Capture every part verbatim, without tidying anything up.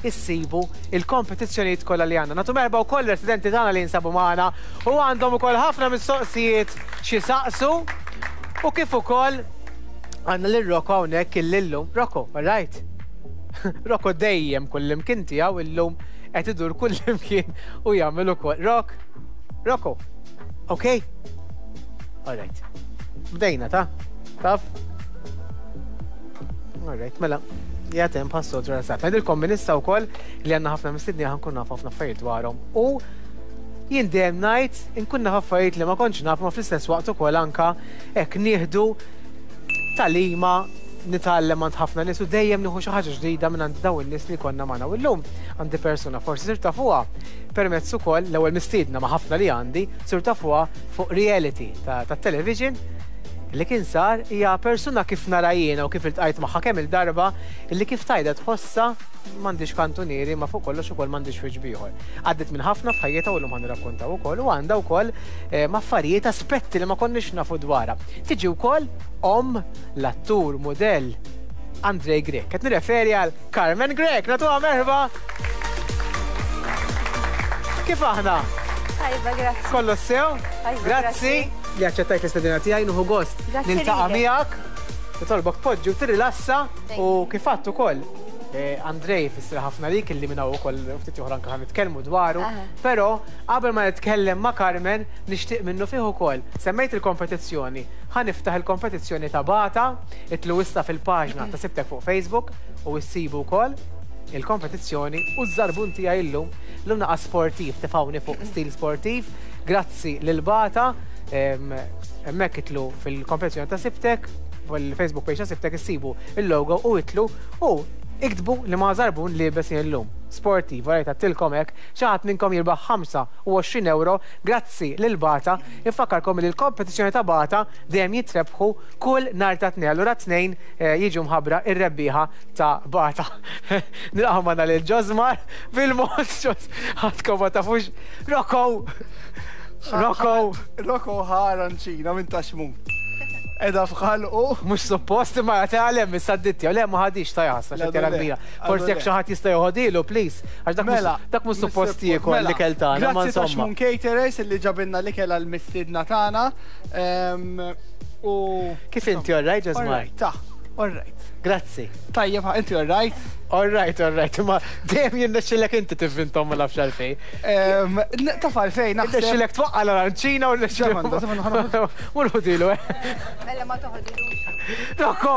issibu il-kompetizzjonijiet kollha li għandna. Nagħtu merħba wkoll residenti tagħna li jinsabu magħna u għandhom ukoll ħafna mistoqsijiet xi saqsu u kif ukoll għandna lil Rocco hawnhekk illum. Rocco, all right? Rocco dejjem kullimkien tiegħu illum qed idur kullimkien u jagħmel ukoll. Rock, Rocco, okay? All right. Bdejna ta' taf? All right, mela, jgħatem passu rasat. Ngħidilkom minn issa wkoll li għandna ħafna mistedni ħa nkun naf ħafna affarijiet dwarhom. U jien dejjem ngħid inkun naf affarijiet li ma kontx naf ma fl-istess waqt ukoll anka hekk nieħdu talima nitgħallem għand ħafna nies u dejjem nieħu xi ħaġa ġdida minn għand dawn in-nies li konna magħna. U llum għandi persuna forsi sir tafuha permezz ukoll l-ewwel mistiedna ma' ħafna li għandi sir tafuha fuq reality tat-television li kien sar hija persuna kif nara jiena u kif iltqajt magħha kemm il-darba illi kif tajda tħossa m'għandix kantunieri ma fuq kollox ukoll m'għandix wiċċ bieħor. Għaddiet minn ħafna f'ħajjitha u llum ħa nirrakkontaw ukoll u għandha wkoll affarijiet aspetti li ma konniex nafu dwarha. Tiġi wkoll omm l-attur modell Andrej Grech. Qed nirreferi għal Carmen Grech. Nagħtuha merħba. Kif aħna? Tajba, grazzi. Kollox sew? Tajba, Grazzi li aċċettajt l-istedina tiegħi, nieħu gost Grazzi niltaqa' lilek. miegħek. Nitolbok poġġi u tirrilassa Thank u you. kif għadt ukoll. eh, Andrej fisser ħafna lik illi minn hawn ukoll ftit oħra anke ħa nitkellmu dwaru, Aha. però qabel ma nitkellem ma' Carmen nixtieq minnu fih ukoll. Semmejt il-kompetizzjoni, ħa niftaħ il-kompetizzjoni ta' Bata, itilgħu issa fil-paġna ta' Sibtek fuq Facebook u issibu wkoll il-kompetizzjoni u ż-żarbun tiegħi llum, llum naqa' sportiv, tefgħuni fuq stil sportiv, grazzi lil Bata, em, hemmhekk itilgħu fil-kompetizzjoni ta' Sibtek, fil-Facebook page ta' Sibtek issibu il-logo u itilgħu u iktbu li ma' żarbun liebes jien illum. Sportiv, għarajt għattilkom hekk, xi ħadd minnkom jirbaħ ħamsa u għoxrin euro grazzi lil Bata. Infakkarkom li l-kompetizzjoni ta' Bata dejjem jitrebħu kull nhar ta' Tnejn. Allura Tnejn eh, jiġu mħabbra ir-rebbieħa ta' Bata. Nilqgħu magħna lil Ġosmar bil-mod Ġos ħadkom ma tafux. Rocco! Rocco! Rocco ħa aranċina minn ta' Xmun. Edha f'ħalqu. Mhux suppost imma jagħti issa d-ditti, le ma ħadix ta' jasa, Le, xi le. kbira. Forsi jekk le. xi ħadd jista' joħodilu, please. Għax dak mhux Mela, dak mhux suppost jiekol mela, l-ikel tagħna, ma Grazzi ta' insomma. Xmun Caterers illi ġabilna l-ikel għal-mistiedna tagħna. Ehm, U. Kif inti, all right, Ġosmar? Alright, ta' alright. Grazzi. Tajjeb, inti alright? All right, all right, ma dejjem jirnexxilek inti tivvintom ma nafx għalfejn. Ehm, n- Taf għalfejn, naħseb. Irnexxilek twaqqa l-aranċina u rnexxilek. Ġemanda, ġemanda, Mur ħudilu, eh. Mela ma toħodilux. Rocco!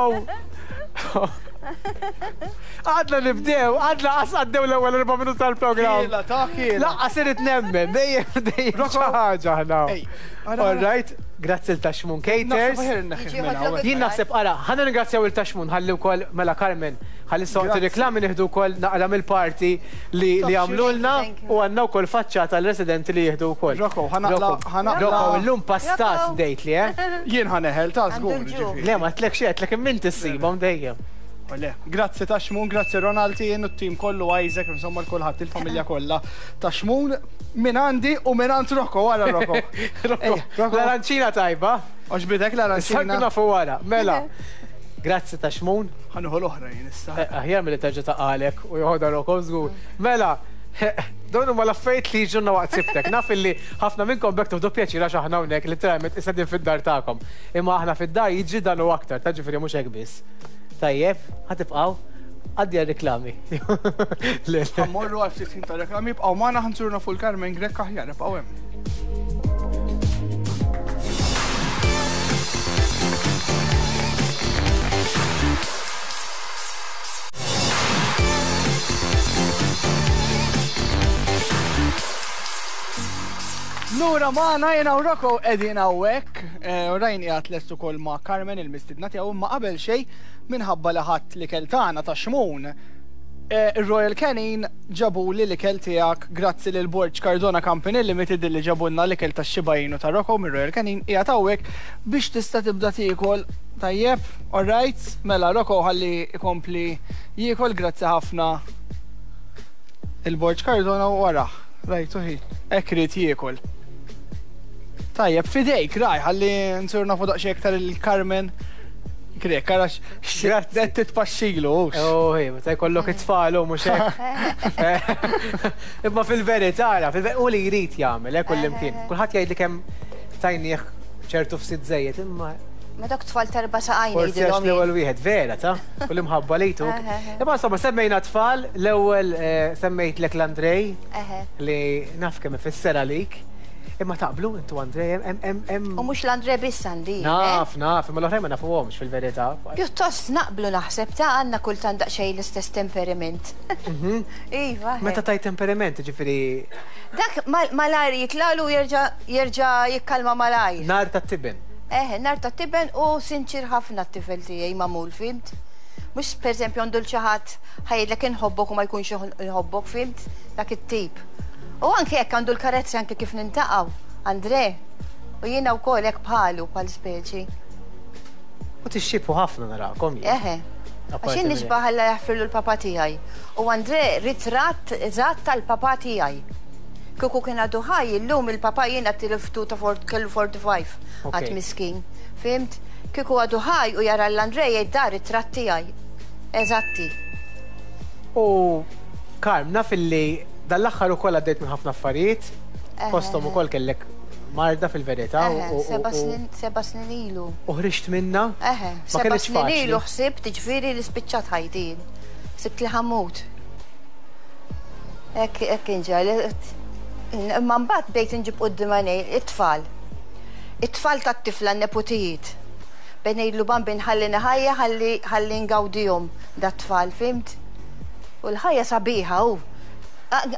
Għadna nibdew, għadna qas għaddew l-ewwel erba' minuti tal-programm. Kiela, ta' kiela. Laqqas irid nemmen, dejjem dejjem Rocco. xi ħaġa aħna. Ej, ara, All right, grazzi 'l ta' Xmun Caters. Naħseb aħjar inneħħih Jiġi minn ħodlok hawnhekk. Jien naħseb ara, ħa nirringrazzjaw 'il ta' Xmun ħalli wkoll mela Carmen, ħalli soqt Grazzi. reklami nieħdu wkoll naqra mill-parti li li għamlulna Thank you. u għandna wkoll faċċata l-residenti li jieħdu wkoll. Rocco, ħa naqla- Rocco, ħa naqla- Rocco, illum pastas Rocco. dejt li, eh? Jien ħa neħel ta' żgur. Għandu l-ġuħ. ġifieri. Le, ma tlek xi tlek immin tissibhom dejjem. Le, grazzi ta' Xmun, grazzi Ronald jien u t-tim kollu Isaac, insomma l-kulħadd, il-familja kollha ta' Xmun minn għandi u minn għand Rocco, wara Rocco. Rocco, Ej, Rocco. l-aranċina tajba. Għoġbitek Issa l-aranċina? nafu wara. Mela, grazzi ta' Xmun. Ħa nieħu l-oħra jien issa. Eh, Aħjar milli terġa' taqalek u joħodha Rocco żgur. Mela, dawn huma l-affarijiet li jiġuna waqt Sibtek. Naf illi ħafna minnkom bekk tieħdu pjaċir għax aħna hawnhekk literalment issa din fid-dar tagħkom. Imma aħna fid-dar jiġri dan u aktar, ta' ġifieri mhux hekk biss. Tajjeb, ħa tibqgħu għaddi għal-reklami. Le, le. Ħa mmorru għal ftit ħin ta' reklami, ibqgħu magħna ħa nżuru fuq Carmen Grech aħjar, ibqgħu hemm. Lura magħna jiena u Rocco qegħdin hawnhekk, eh, u rajn qiegħed lest ukoll ma' Carmen il-mistidna tiegħu imma qabel xejn minħabba li ħadd l-ikel tagħna ta' Xmun. eh, Il-Royal Canin ġabu li l-ikel tiegħek grazzi lil Borg Cardona Company Limited li ġabulna l-ikel tax-Shiba Inu ta' Rocco mir Royal Canin qiegħed hawnhekk biex tista' tibda tiekol tajjeb, alright, mela Rocco ħalli ikompli jiekol grazzi ħafna il-Borg Cardona u wara, rajtu hi, hekk irid jiekol. Tajjeb, fidejk, raj, ħalli nsir nafu daqsxejn iktar il-Carmen. Krek, għarax, Grazzi. Titpaxxilu. Oh, hej, meta jkollok it-tfal u mhux hekk. Imma fil-verità, ara, fil u li jrid jagħmel, eh, kullimkien. Kulħadd jgħid li kemm tajnieh ċertu fsit żejjed, imma Ma dok tfal terba saqajn forsi għax jgħidilhom. l-ewwel wieħed, vera ta' u l-imħabba li jtuk. Imma insomma, semmejna tfal, l-ewwel eh, semmejtlek l-Andrej Eħe. li naf kemm ifisser għalik. Imma taqblu intu Andrej, hemm hemm hemm U mhux l-Andre biss għandi. eh? Naf, naf, imma l-oħrajn ma nafuhomx fil-verità. Pjuttost naqblu naħseb ta' għandna kultant daqsxejn l-istess temperament. Iva. Meta tajt temperament, ġifieri Dak mal- malajr jitlalu jerġa' jerġa' jikkalma malajr. nar ta' tiben. Eħe, nar ta' tiben u sinċir ħafna t-tifel tiegħi magħmul, fhimt? Mhux per eżempju għandu l-ċaħat ħajdlek inħobbok u ma jkunx inħobbok, fhimt? Dak it-tip. U anke jekk għandu l-karezzi anke kif nintaqgħu, Andre. U jiena wkoll hekk bħalu bħal speċi. U tixxiebħu ħafna narakom jien. Eħe. Apparti Għax jien minn nixbaħ Alla jaħfirlu l-papa tiegħi. U Andre ritratt eżatt tal-papa tiegħi. Kieku kien għadu ħaj, illum il-papa jiena tiliftu ta' fort- kellu erbgħa u ħamsin. Ok. Għad miskin. Fhimt? Kieku għadu ħaj u jara l-Andre jgħid dar ritratt tiegħi. Eżatti. U Karm, naf illi dal-aħħar ukoll għaddejt minn ħafna affarijiet, fosthom ukoll kellek marda fil-verità u- Eħe, u- seba' u- snin seba' snin ilu. u ħriġt minna. Eħe, Ma seba' kienx snin faċli. ilu ħsibt ġifieri li spiċċat ħajti. Ħsibt li ħa mmut. Hekk hekk kien ġara. Imma mbagħad bdejt inġib quddiem għajnej it-tfal. It-tfal tat-tifla n-neputijiet. Bejn ngħidlu bambin ħallini ħajja ħalli ħalli ngawdihom dat-tfal, fhimt? U l-ħajja sabiħa u.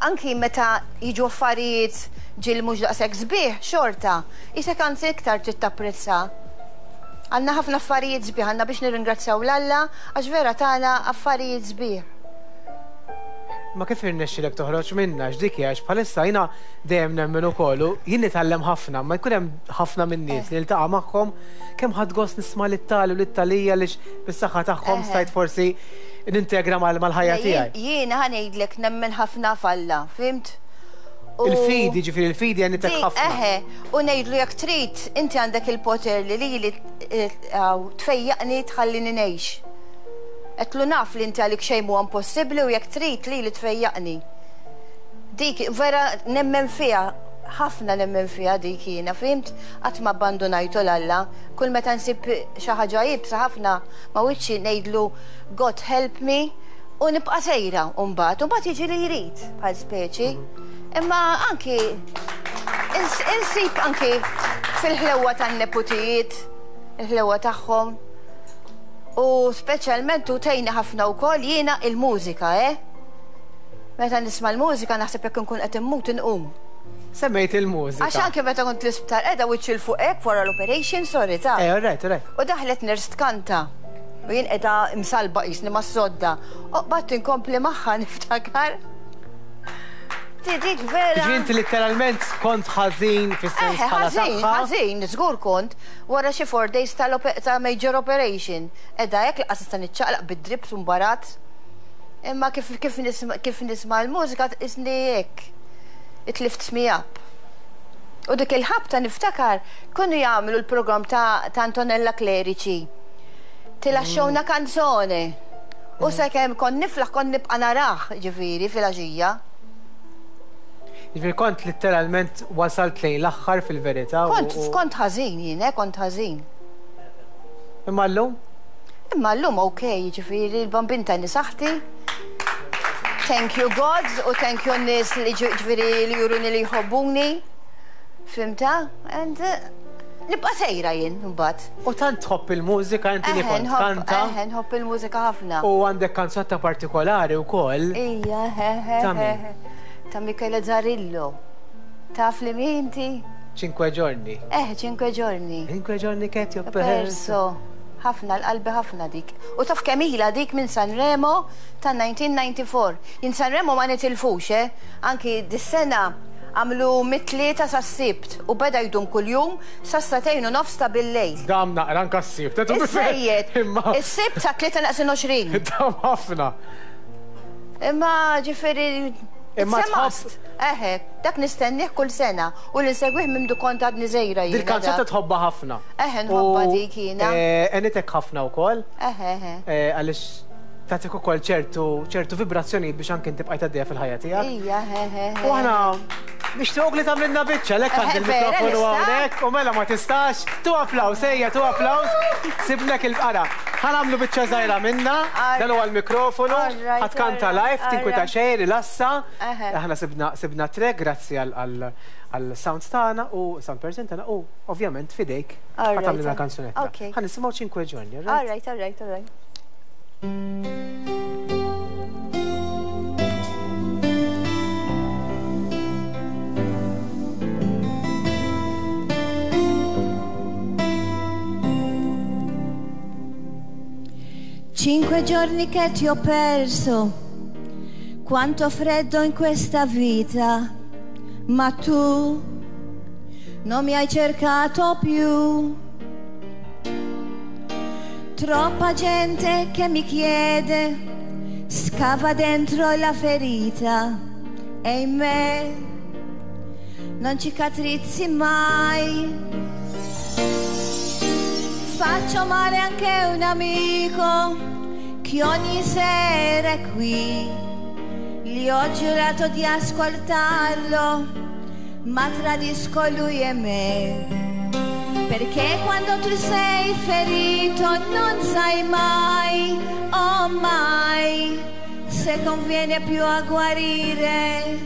Anki meta jiġu affarijiet ġil mhux daqshekk sbieħ, xorta, isek anzi iktar trid tapprezza. Għandna ħafna affarijiet sbieħ, għandna biex nirringrazzjaw l-Alla għax vera tagħna affarijiet sbieħ. Ma kif irnexxilek toħroġ minna x'dik hija għax bħalissa jiena dejjem nemmen ukoll u jien nitgħallem ħafna, ma jkun hemm ħafna minn nies li niltaqa' magħhom kemm ħadt gost nisma' lit-tali u lit-talija li bis-saħħa tagħhom Eħe. stajt forsi nintegra mal- mal-ħajja tiegħi. Jiena ħa ngħidlek nemmen ħafna f'Alla, fhimt? U- Il-fidi, ġifieri il-fidi għenitek Dik, ħafna. Eħe, u ngħidlu jekk trid, inti għandek il-poter li li li tfejjaqni tħallini ngħix. Għedtlu naf li inti għalik xejn mhu impossibbli u jekk trid li li tfejjaqni. Dik vera nemmen fiha, ħafna nemmen fiha dik jiena, fhimt? Qatt ma abbandonajtu l-Alla. Kull meta nsib xi ħaġa iebsa ħafna ma wiċċi ngħidlu God help me u nibqa' sejra u mbagħad, u mbagħad jiġi li jrid bħal speċi. Imma anki ins- insib anki fil-ħlewa tan-neputijiet, il-ħlewa tagħhom. U speċjalment u tgħinni ħafna wkoll jiena il-mużika, eh? Meta nisma' l-mużika naħseb jekk nkun qed immut inqum. Semmejt il-mużika. Għax anke meta kont l-isptar qiegħda wiċċi 'l fuq hekk wara l-operation, sorry ta' Eh, all right, all right. U daħlet nurse tkanta. U jien qiegħda msalba qisni mas-sodda. U qbadt inkompli magħha niftakar. Ti dik vera. Ġifieri inti letteralment kont ħażin fis-sens Eħe, bħala ħażin, saħħa. ħażin, żgur kont wara xi four days ta' major operation. Edha hekk laqas nista' niċċaqlaq bid-drips u mbarat. Imma kif kif nisma' kif nisma' l-mużika isni hekk. It lifts me up. U dik il-ħabta niftakar kienu jagħmlu l-programm ta', ta' Antonella Clerici. Ti lascio una canzone. U sakemm kont niflaħ kont nibqa' narah ġifieri fil-għaxija. Ġifieri kont letteralment wasalt lejn l-aħħar fil-verità. u- Kont u- kont ħażin jien, eh, kont ħażin. Imma llum? Imma llum ok, ġifieri l-bambin tani saħħti. Thank you God u thank you n-nies li ġifieri li juruni li jħobbuni. Fhimta? And uh, nibqa' sejra jien mbagħad. U tant tħobb il-mużika inti li Eħe, kont nħobb- kanta. Eħe, nħobb il-mużika ħafna. U għandek kanzunetta partikolari wkoll. Ija, he, he, Ta' min? he. Ta' Michele Zarillo. Taf li min inti? Cinque giorni. Eh, cinque giorni. Cinque giorni che ti ho perso. Perso. Ħafna l-qalbi ħafna dik. U taf kemm ilha dik minn Sanremo ta' elf disa' mija u disgħa u disgħin. Jien Sanremo ma nitilfux, eh? Anki dis-sena għamlu mit-tlieta sas-sibt u beda jdum kuljum sas-sagħtejn u nofs ta' bil-lejl. Dam naqra anka s-sibt. Is-sejjed, Imma is-sibt sa tlieta naqsin għoxrin. dam ħafna. Imma ġifieri Imma tħobb. Eħe, dak nistennih kull sena u li nsegwih minn kont għadni żgħira jiena. Dil-kanzunetta tħobbha ħafna. Eħe, nħobbha dik jiena. Għenitek ħafna wkoll. Eħe, eħe. Għaliex tagħtik ukoll ċertu ċertu vibrazzjonijiet biex anke inti bqajt għaddejja fil-ħajja tiegħek. Ija, eħe. U aħna nixtiequk li tagħmlilna biċċa, lek għand il-mikrofonu hawnhekk u mela ma tistax. Tu applaws, ejja, tu applaws. Sibnek il-qara. Ħa nagħmlu biċċa żgħira minna, dan huwa l-mikrofonu, ħa tkanta live, tinkwita xejn, rilassa. Aħna sibna sibna track grazzi għal sound tagħna u sound person tagħna u ovvjament fidejk ħa tagħmlilna kanzunetta. Ħa nisimgħu Cinque Giorni, all right? All right, all right, all right. Cinque giorni che ti ho perso, quanto freddo in questa vita, ma tu non mi hai cercato più. Troppa gente che mi chiede, scava dentro la ferita e in me non cicatrizzi mai. Faccio male anche un amico che ogni sera è qui. Gli ho giurato di ascoltarlo, ma tradisco lui e me. Perché quando tu sei ferito non sai mai, oh mai, se conviene più a guarire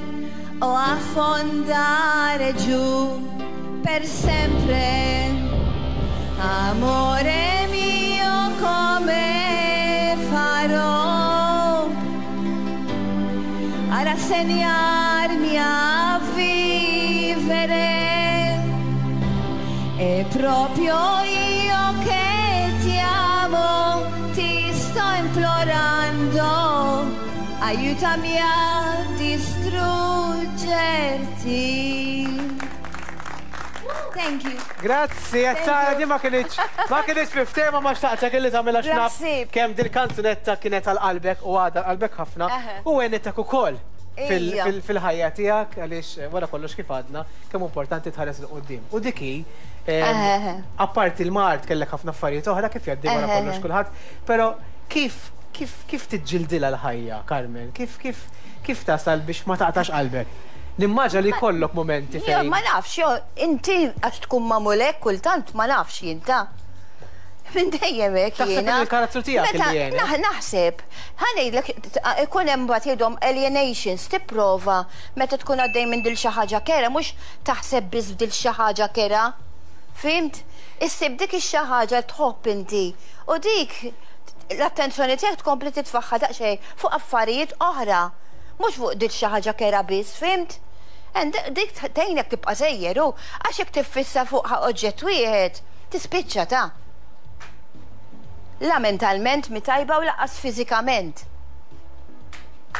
o affondare giù per sempre. Amore mio, come farò a rassegnarmi a vivere? E proprio io che ti amo, ti sto implorando, aiutami a distruggerti. Thank you. Grazzi, għattara di ma kinitx, ma kinitx f'tema ma xtaqtek illi tagħmilha xnaf kemm dil-kanzunetta kienet għal qalbek u għadha qalbek ħafna u għenitek ukoll fil-ħajja tiegħek għaliex wara kollox kif għadna kemm importanti tħares 'il quddiem. U dik hi, apparti l-mard kellek ħafna affarijiet oħra kif jgħaddi wara kollox kulħadd, però kif kif kif tiġġildilha l-ħajja, Carmen? Kif kif kif tasal biex ma taqtax qalbek? Nimmaġa li kollok momenti fejn. Ma nafx, jo, inti għax tkun magħmul hekk kultant ma nafx jinta. Minn dejjem hekk jiena. Taħseb il-karattru tiegħek li jien. Naħseb, ħa ngħidlek ikun hemm mbagħad jgħidhom alienations, tipprova meta tkun għaddej minn dil xi ħaġa kera, mhux taħseb biss f'dil xi ħaġa kera. Fimt? Issib dik ix-xi ħaġa tħobb inti. U dik l-attenzjoni tiegħek tkompli titfaħħa daqsxejn fuq affarijiet oħra. Mhux fuq dik xi ħaġa kera biss, fimt? Dik tgħinek tibqa' sejjer u għax jekk tiffissa fuq oġġett wieħed, tispiċċa ta'. La mentalment mi tajba u lanqas fiżikament.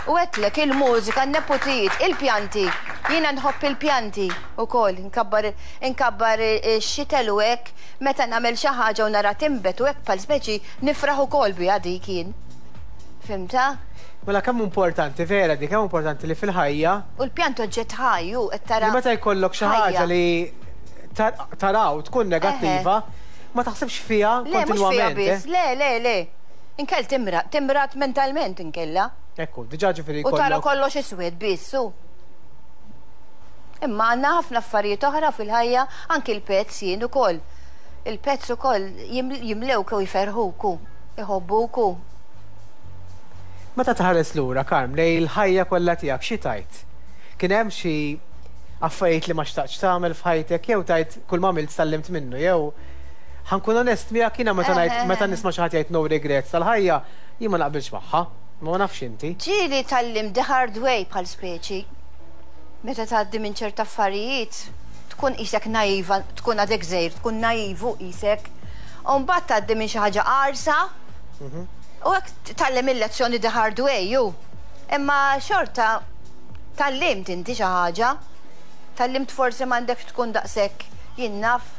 U għedtlek il-mużika, n-nepotijiet, il-pjanti, jiena nħobb il-pjanti ukoll, nkabbar nkabbar ix-xitel u hekk, meta nagħmel xi ħaġa u nara timbet u hekk bħal speċi nifraħ ukoll biha dik jien. Fimta? Mela kemm importanti, vera di, kemm importanti li fil-ħajja. U l-pjant oġġett ħaj, u qed tara. Li meta jkollok xi ħaġa li taraw tkun negattiva, ma taħsibx fiha kontinwament. Le, le, le, le. Inkell timrat, timrat mentalment inkella. Ekku, diġà ġifieri U tara kollox iswed biss, u. Imma għandna ħafna affarijiet oħra fil-ħajja, anki l-pets jien ukoll. Il-pets ukoll jimlewk u jferħuk, iħobbuk. Meta tħares lura, Carm, lej l-ħajja kollha tiegħek xi tajt? Kien hemm xi affarijiet li ma xtaqtx tagħmel f'ħajtek jew tajt kull ma għamilt sallimt minnu jew ħa nkun onest miegħek jiena meta ngħid meta nisma' xi ħadd jgħid no regrets tal-ħajja, jien ma naqbilx magħha, ma nafx inti. Ġieli tgħallimt the hard way bħal speċi. Meta tgħaddi minn ċerta affarijiet, tkun qisek naiva, tkun għadek żgħir, tkun naivu qisek. U mbagħad tgħaddi minn xi ħaġa qarsa. U hekk tgħallem il-lezzjoni the hard way, ju. Imma xorta tgħallimt inti xi ħaġa. Tgħallimt forsi m'għandekx tkun daqshekk jien naf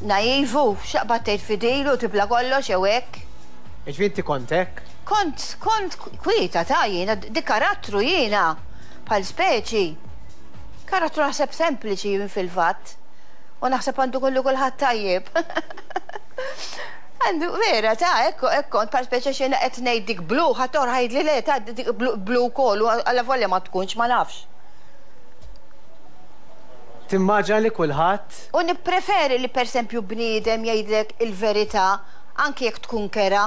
naivu, x'aqbad tgħid fidilu, tibla kollox jew hekk. Jiġifieri inti kont hekk? Kont, kont kwieta ta' jiena, di karattru jiena, bħal speċi. Karattru naħseb sempliċi jien fil-fatt. U naħseb għandu kollu kulħadd tajjeb. Għandu, vera, ta' ekku, ekku, kont bħal speċi xena qed ngħid dik blu, ħadd ħajd li le, ta' dik blu, blu wkoll, u alla volja ma tkunx, ma nafx. Timmaġina li kulħadd U nippreferi li per esempio bniedem jgħidlek il-verità, anki jekk tkun kera,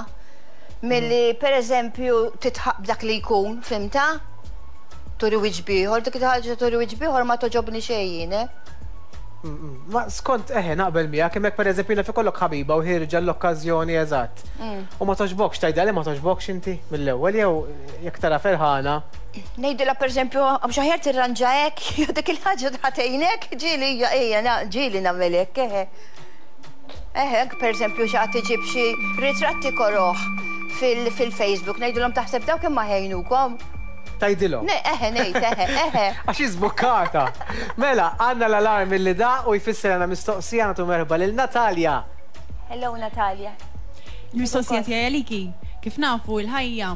milli per eżempju titħaq b'dak li jkun, fhimtha? Turi wiċċ b'ieħor, dik il-ħaġa turi wiċċ b'ieħor ma togħġobni xejn jien, eh? Ma skont eħe naqbel miegħek hemmhekk pereżempju naf ikollok ħabiba u ħierġa l-okkażjoni eżatt. U ma togħġbokx tgħidha li ma togħġbokx inti mill-ewwel jew jekk tara ferħana. Ngħidilha per eżempju, mhux aħjar tirranġa hekk, jew dik il-ħaġa tħatejnek, ġieli ejja, ġieli nagħmel hekk, eħe. Eħe, anke per eżempju xi ħadd iġib xi ritratti koroħ fil-Facebook, ngħidulhom taħseb dawk imma ħejnukom. Tgħidilhom. Ne, eħe, ngħid, eħe, eħe. Għax iżbukkata. Mela, għandna l-alarm li da u jfisser għandna mistoqsija nagħtu merħba lil Natalja. Hello Natalia. Il-mistoqsija tiegħi għaliki, kif nafu l-ħajja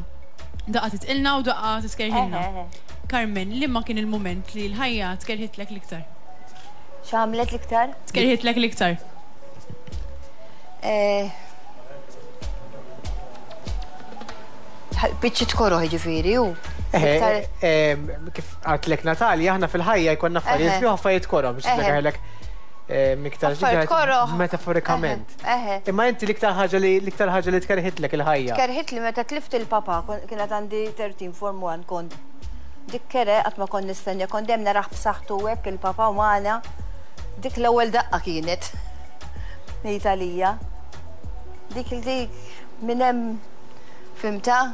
daqqa titqilna u daqqa tiskerħilna. Eħe, eħe. Carmen, liema kien il-moment li l-ħajja tkerħitlek l-iktar? X'għamlet l-iktar? Tkerħitlek l-iktar. Eh, Biċċi tkoroħ ġifieri u. Eħe, Iktar- em, kif għatlek Natalja, aħna fil-ħajja jkollna affarijiet Eħe. sbieħ affarijiet koroh biex Eħe. tlekarlek iktar Affarijiet koroh. metaforikament. Eħe. Imma inti l-iktar ħaġa li l-iktar ħaġa li tkerħitlek il-ħajja. Kerħit li meta tlift il-papa, kon- kienet għandi tlettax form one kont. Dik kere qatt ma kont nistenja, kont dejjem naraħ b'saħħtu hekk il-papa u magħna. Dik l-ewwel daqqa kienet. Ngħid għalija. Dik il-dik minn hemm fhimtha.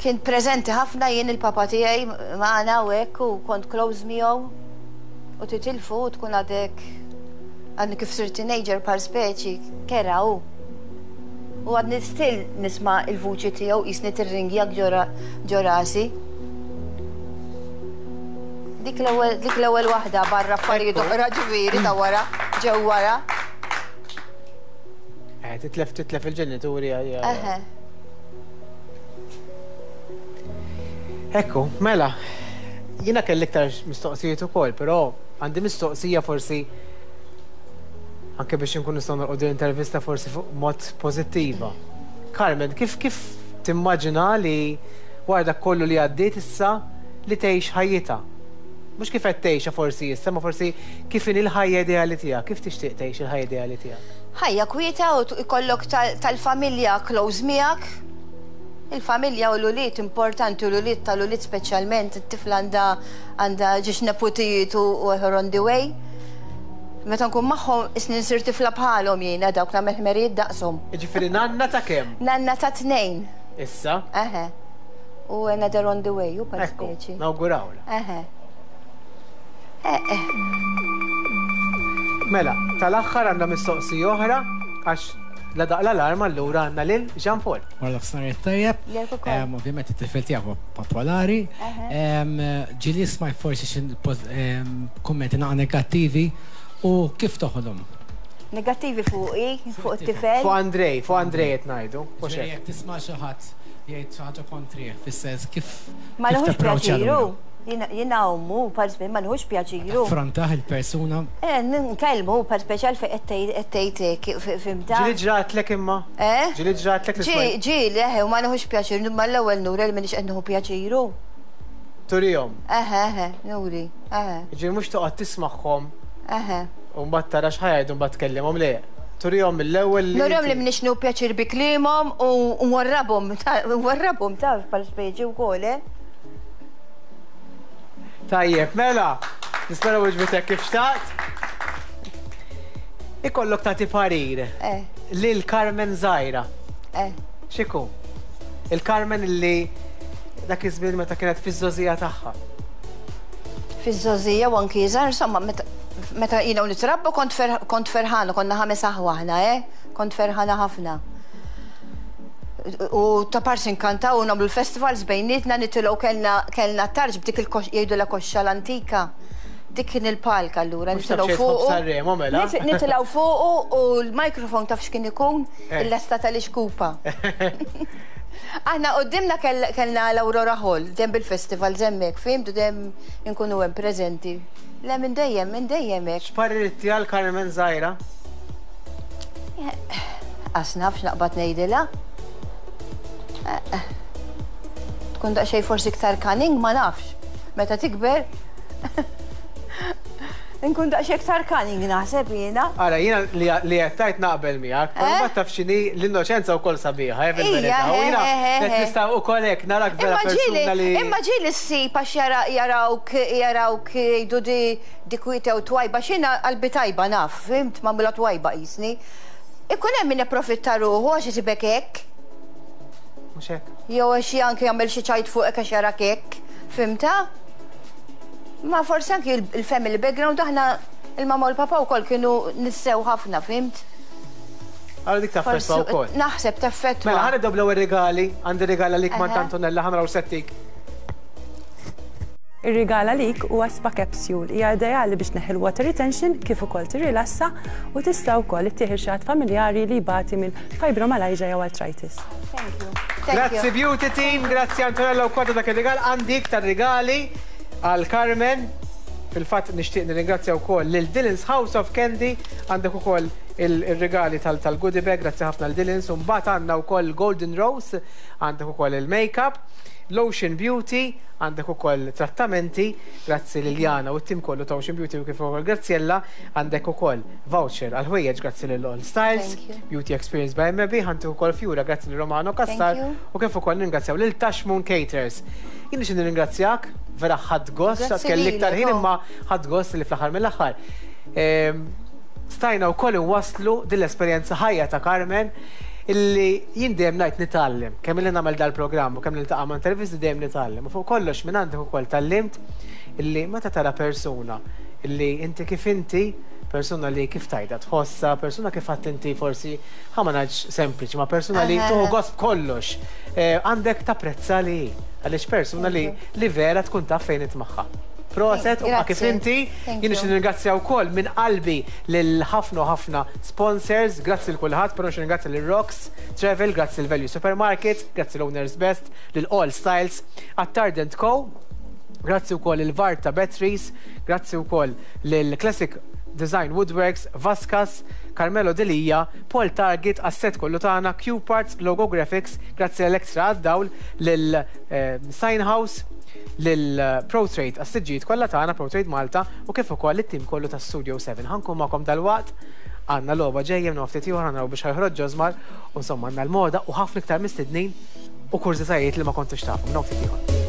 Kien preżenti ħafna jien il-papa tiegħi magħna u hekk u kont close miegħu. U titilfu u tkun għadek għadni kif sirt teenager par speċi kera u. U għadni still nisma' il-vuċi tiegħu jisni tirringjak ġo rasi. Dik l-ewwel dik l-ewwel waħda barra affarijiet oħra ġifieri ta' wara, ġew wara. Eh, titlef titlef il-ġenituri. għaj- Eħe. Ekku, mela, jiena kelli iktar mistoqsijiet ukoll, però għandi mistoqsija forsi anke biex nkun nistgħu norqodu l-intervista forsi fuq mod pożittiva. Carmen, kif kif timmaġina li wara dak kollu li għaddiet issa li tgħix ħajjitha? Mhux kif qed tgħixha forsi issa, ma forsi kif inhi l-ħajja ideali tiegħek, kif tixtieq tgħix il-ħajja ideali tiegħek? Ħajja kwieta u t- ikollok tal- tal-familja close miegħek. Il-familja u l-ulied importanti, u l-ulied tal-ulied speċjalment, it-tifla għandha għandha ġiex neputijiet u u her on the way. Meta nkun magħhom isni nsir tifla bħalhom jiena dawk nagħmel ħmerijiet daqshom. Jiġifieri nanna ta' kemm? Nanna ta' tnejn. Issa? Eħe. U another on the way, u par Ekku, speċi. nawgurawla. Eħe. Eh, eh. Mela, tal-aħħar għandna mistoqsija oħra għax la daq l-alarm allura għandna lil Jean Paul. Wara nofsinhar tajjeb. Lilek ukoll. Em, Ovvjament it-tifel tiegħek huwa popolari. Em, Ġieli smajt forsi xi poz- em, kummenti naqa negattivi u kif toħodhom? Negattivi fuqi, fuq it-tifel. Fuq Andrej, fuq Andrej qed ngħidu. Mhux Ġifieri hekk. jekk tisma' xi ħadd jgħid xi ħaġa kontrih, fis-sens kif Ma kif nħux tapproċċja pjaċiru. allura? Jiena jiena ommu, par speċi, ma nħux pjaċiru. Affrontah il-persuna Eh, nkellmu par speċi għalfejn qed tgħid hekk, fhimtha? Ġieli ġratlek imma? Eh? Ġieli ġratlek li Ġi, smajt? ġi, leħe, u ma nħux pjaċir, ma l-ewwel nuri li minix qed nieħu pjaċiru. Turihom. Eħe, eħe, nuri, eħe, Ġieli mhux toqgħod tismagħhom eħe. u mbagħad tara x'ħajdu mbagħad tkellimhom le. Turihom mill-ewwel li. Nurihom li minix nieħu pjaċir bi kliemhom u nwarrabhom, ta- nwarrabhom taf bħal speċi wkoll, eh? Tajjeb, mela, nispera weġbitek kif xtaqt. Ikollok tagħti parir Eh, lil Carmen Zaira. eh. X'iku? Il-Carmen li dak iż-żmien meta kienet fiż-żogħżija tagħha. Fiż-żogħżija u anki iżgħar, insomma, meta meta jiena u nitrabba kont fer, kont ferħana, konna ħames aħwa aħna, eh? Kont ferħana ħafna. U ta' parsi nkantaw u nagħmlu l-festivals bejnietna nitilgħu kellna kellna tarġ b'dik il jgħidu la koxxa l-antika. Dik kien il-palk allura, Mhux taf nitilgħu xejn tħobb fuqu. Sanremo, mela? Nit- Nitilgħu fuqu u l-mikrofon taf x'kien ikun Eh. il-lesta tal-ixkupa. Aħna qudiemna kellna l-Aurora Hall, dem bil-festival zemmek, fimtu dem inkunu hemm preżenti. Le minn dejjem, minn dejjem hekk. X'parir għal Carmen żgħira? Qas nafx naqbad ngħidilha. Tkun daqsxejn forsi iktar cunning, ma nafx. Meta tikber nkun daqsxejn iktar cunning naħseb jiena. Ara, jiena li qed tgħid naqbel miegħek, però ma taf x'inhi l-innoċenza wkoll sabiħa, eh, fil-verità. U jiena qed nista' wkoll hekk narak vera persuna li. Imma ġieli ssib għax jarawk jarawk jgħidu di di kwieta u twajba, x'jiena qalbi tajba naf, fimt, magħmula twajba qisni. Ikun hemm min ipprofitta ruħu għax isibek hekk. Mhux hekk. Jew għax anke jagħmel xi ċajt fuqek għax jarak hekk, fimta? Ma forsi anki il-family background aħna il-mama u l-papa wkoll kienu nissew ħafna, fimt? Għallu dik taffettwa wkoll. Naħseb taffettwa. Mela ħa nibdew bl-ewwel rigali, għandi rigal għalik ma' Antonella, ħa naraw settik. Ir-rigal għalik huwa spa capsule, hija ideali biex neħi l-water retention kif ukoll tirrilassa u tista' wkoll ittieħi xi ħadd familjari li jbati minn fibromyalgia jew arthritis. Thank you. Grazzi Beauty Team, grazzi Antonella wkoll ta' dak ir-rigal, għandi iktar rigali għal Carmen. Fil-fatt nixtieq nirringrazzja wkoll lil Dylan's House of Candy, għandek ukoll il-regali tal-goodie bag, grazzi ħafna l Dylan's, u mbagħad għandna wkoll Golden Rose, għandek ukoll il-makeup, Lotion Beauty, għandek ukoll trattamenti, grazzi Liliana u t-tim kollu ta' Ocean Beauty u kif ukoll Graziella, għandek ukoll voucher għal ħwejjeġ grazzi lil All Styles, Beauty Experience by M B, għandek ukoll Fjura grazzi lil Romano Cassar u kif ukoll ningrazzjaw lil Tashmoon Caterers. Jien nixtieq nirringrazzjak, vera ħadd gost, kelli iktar ħin imma ħadd gost li fl-aħħar mill-aħħar. Stajna wkoll inwasslu din l-esperjenza ħajja ta' Carmen illi jien dejjem ngħid nitgħallem, kemm illi nagħmel dal-programm u kemm niltaqa' ma' intervisti dejjem nitgħallem. U fuq kollox minn għandek ukoll tgħallimt illi meta tara persuna illi inti kif inti, persuna li kif tajda tħossa, persuna kif għadt inti forsi ħa ma ngħidx sempliċi, ma persuna li tuħu gost b'kollox, għandek tapprezza li hi, għaliex persuna li li vera tkun taf fejn itmaħħa. Proset, u kif inti, jien nixtieq nirringrazzja wkoll minn qalbi lil ħafna u ħafna sponsors, grazzi l kulħadd, però nixtieq nirringrazzja lil Rocks Travel, grazzi l Value Supermarket, grazzi l Owners Best, lil All Styles, Attard and Co, grazzi wkoll il Varta Batteries, grazzi wkoll lil Classic Design Woodworks, Vaskas, Carmelo Delia, Paul Target, Asset kollu tagħna, Q Parts, Logo Graphics, grazzi l-Extra għad-dawl, lil Sign House, lil ProTrade għas-siġġijiet kollha tagħna ProTrade Malta u kif ukoll it-tim kollu ta' Studio seven. Ħankun magħkom dalwaqt, għandna logħba ġejja minn ftit ieħor naraw biex ħajħroġ Ġosmar u insomma għandna l-moda u ħafna iktar mistednin u kurżitajiet li ma kontux tafu minn ftit ieħor.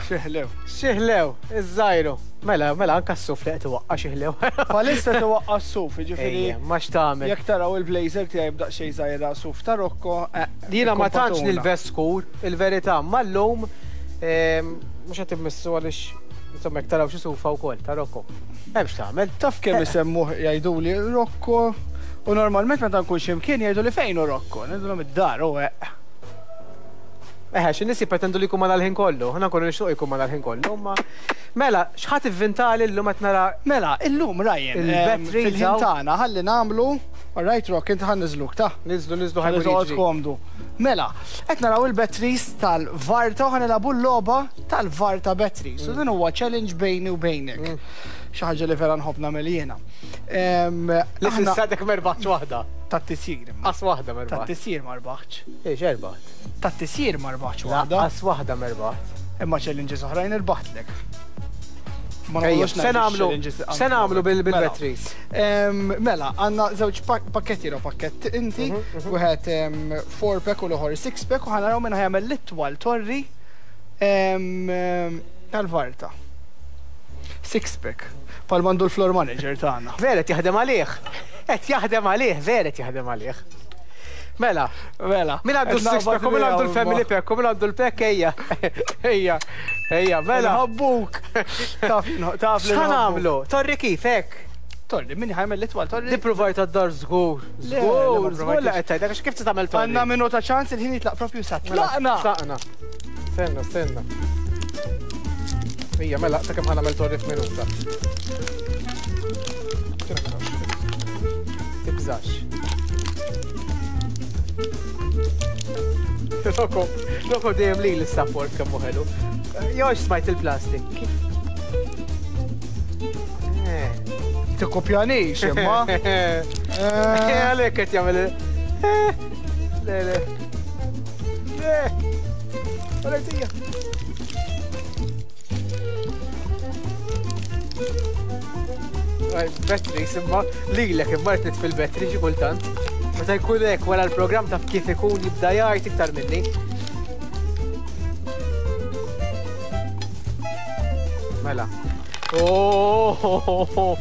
Xieħlew. Xieħlew, iż-żajru. Mela, mela, anka s-suf li qed iwaqqa' xieħlew. Palissa tiwaqqa' s-suf, jiġifieri. Ma x'tagħmel. Jekk taraw il-blazer tiegħi b'daq xejn żgħira suf ta' Rocco. Jiena ma tantx nilbes skur, il-verità, ma llum mhux qed immissu għaliex insomma jekk taraw xi sufa wkoll ta' Rocco. Hemm x'tagħmel. Taf kemm isemmuh jgħiduli Rocco u normalment meta nkun xi mkien jgħiduli fejn hu Rocco, ngħidulhom id-dar u hekk. Eħe, xi nies jippretendu li jkun ma dal-ħin kollu, ħna nkunu nixtieq jkun ma dal-ħin kollu, imma mela, x'ħadd ivvintali llum qed nara. Mela, illum Ryan, il-batteries fil-ħin tagħna ħalli nagħmlu, all right Rock, inti ħa niżluk ta' Niżlu, niżlu ħalli ħajmur toqgħod jiġri. komdu. Mela, qed naraw il-batteries tal-Varta u ħa nilagħbu l-logħba tal-Varta batteries. U din huwa challenge bejni u bejnek. Xi ħaġa li vera nħobb nagħmel jiena. Li s'issa ma rbaħtx waħda. Tat-tisjir. Qas waħda ma rbaħt. Tat-tisjir ma rbaħtx. Ix erbaħt. Tat-tisjir ma rbaħtx waħda. Qas waħda ma rbaħt. Imma challenges oħrajn irbaħtlek. Ma Ejja, noqogħdux se ngħidu nagħmlu challenges se nagħmlu Mela. bil-batteries. Mela, għandna żewġ pakketti ro pakkett inti, wieħed four pack u l-oħor six pack u ħa naraw minn ħajamel l-itwal torri tal-Varta. Six pack. Pal mandu l-floor manager tagħna. Vera qed jaħdem għalih. Qed jaħdem għalih, vera qed jaħdem għalih. Mela, Mela. min għandu s-six pack u min għandu l-family pack u min għandu l-pack ejja. Ejja, ejja, mela. Ħabbuk. Taf taf li X'ħa nagħmlu? Torri kif hekk? Torri, min ħa jagħmel l-itwal torri? Di provajt għad-dar żgur. Żgur, żgur li qed tgħid, għax kif tagħmel torri? Għandna minuta ċans il-ħin jitlaq propju sa tlaqna. Tlaqna. Stenna, stenna. Ija, mela, ta' kemm ħa nagħmel torri f'minuta. Tibżax. Rocco, Rocco dejjem li l-support kemm hu ħelu. Jox smajt il-plastik. Kif? Tikkopjanix, imma. Għalhekk qed jagħmel. Le, le. Le. Għalhekk Batteries, imma lilek imma qed nitfi l-battery xi kultant. Meta jkun hekk wara l-programm taf kif ikun jibda jgħid iktar minni. Mela. Oh!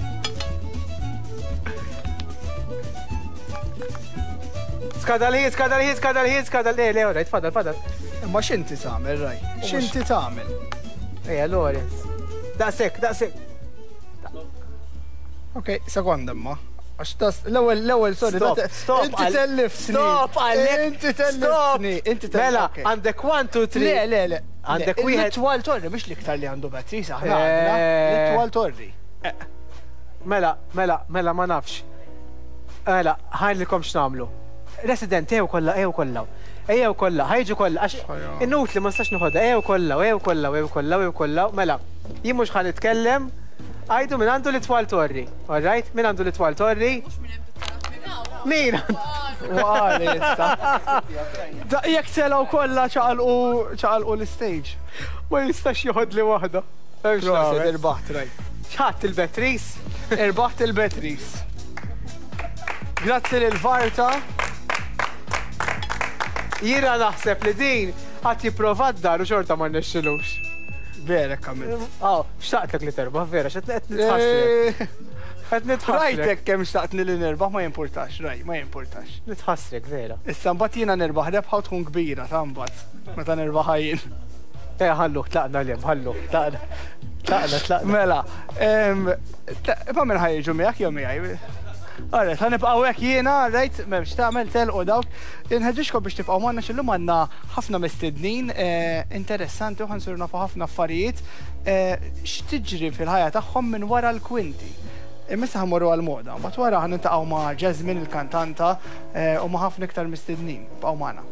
Skada l-ħin, skada l-ħin, skada l-ħin, skada l-ħin. Le, le, tfadal, tfadal. Imma x'inti tagħmel, Raj? X'inti tagħmel? Ejja, Lawrence. Daqshekk, daqshekk. Ok, sekonda imma. Għax tas, l-ewwel, l-ewwel, sorry. Stop, stop. Inti telliftni. Stop, għalek. Inti telliftni. Inti telliftni. Mela, għandek one, two, three. Le, le, le. Għandek wieħed. L-itwal torri, mhux l-iktar li għandu batteries, aħna għandna. L-itwal torri. Mela, mela, mela, ma nafx. Mela, ħajlilkom x'nagħmlu. Resident, ejjew kollha, ejjew kollha. Ejjew kollha, ħajġu kollha, għax inutli ma nistax noħodha, ejjew kollha, ejjew kollha, ejjew kollha, ejjew kollha. Mela, jien mhux ħa nitkellem. Għajdu min għandu l-itwal torri, all right? Min għandu l-itwal torri? Min għandu? Waqali issa. Jekk telgħu kollha ċaqalqu l-stage. Ma jistax joħodli waħda. Proset, irbaħt, Raj. X'ħadd il-batteries? Irbaħt il-batteries. Grazzi lil Varta. Jiena naħseb li din għad jipprova d-dar u xorta ma rnexxilux. Vera kamil. Aw, xtaqtlek li terbaħ, vera, x'qed qed nitħassrek. Qed nitħassrek. Rajtek kemm xtaqtni li nirbaħ ma jimpurtax, raj, ma jimpurtax. Nitħassrek, vera. Issa mbagħad jiena nirbaħ rebħa u tkun kbira ta' mbagħad meta nirbaħ jien. Eh, ħallu, tlaqna lem, ħallu, tlaqna. Tlaqna, tlaqna. Mela, ma minn ħajġu miegħek jew miegħi. Alright, ħa nibqgħu hekk jiena, right, m'hemmx tagħmel telqu dawk. Inħeġġixkom biex tibqgħu magħna x'illum għandna ħafna mistednin interessanti u ħansiru nafu ħafna affarijiet x'tiġri fil-ħajja tagħhom minn wara l-kwinti. Imma issa ħammorru għall-moda, mbagħad wara ħa niltaqgħu ma' Jasmine il-kantanta u ma' ħafna iktar mistednin. Bqgħu magħna.